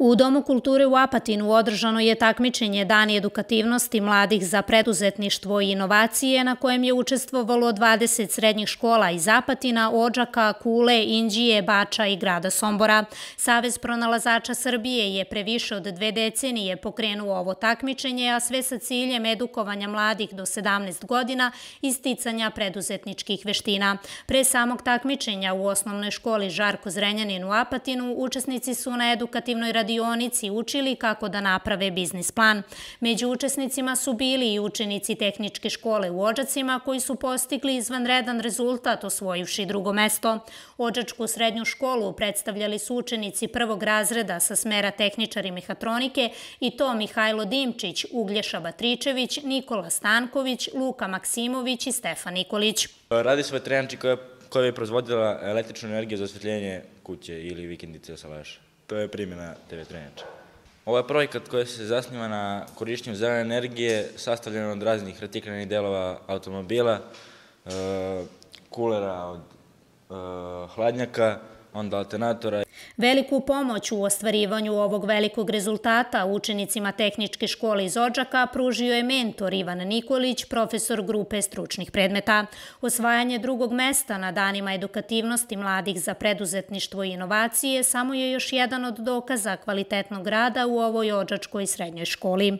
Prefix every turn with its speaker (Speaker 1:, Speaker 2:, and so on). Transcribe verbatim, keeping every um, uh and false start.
Speaker 1: U Domu kulture u Apatinu održano je takmičenje Dani edukativnosti mladih za preduzetništvo i inovacije na kojem je učestvovalo dvadeset srednjih škola iz Apatina, Odžaka, Kule, Inđije, Bača i grada Sombora. Savez pronalazača Srbije je pre više od dve decenije pokrenuo ovo takmičenje, a sve sa ciljem edukovanja mladih do sedamnaest godina i sticanja preduzetničkih veština. Pre samog takmičenja u osnovnoj školi Žarko Zrenjanin u Apatinu učesnici su na edukativnoj radionici učili kako da naprave biznis plan. Među učesnicima su bili i učenici tehničke škole u Odžacima koji su postigli izvanredan rezultat osvojivši drugo mesto. Odžačku srednju školu predstavljali su učenici prvog razreda sa smera tehničar i mehatronike i to Mihajlo Dimčić, Uglješa Batričević, Nikola Stanković, Luka Maksimović i Stefan Nikolić.
Speaker 2: Radi se o veterinarči koja je proizvodila električnu energiju za osvetljenje kuće ili vikendice sa leša. To je primjena te veterinarče. Ovo je projekat koji se zasniva na korišćenju zelene energije, sastavljen od raznih reciklanih delova automobila, kulera od hladnjaka, onda alternatora.
Speaker 1: Veliku pomoć u ostvarivanju ovog velikog rezultata učenicima tehničke škole iz Odžaka pružio je mentor Ivan Nikolić, profesor grupe stručnih predmeta. Osvajanje drugog mesta na danima edukativnosti mladih za preduzetništvo i inovacije samo je još jedan od dokaza kvalitetnog rada u ovoj odžačkoj srednjoj školi.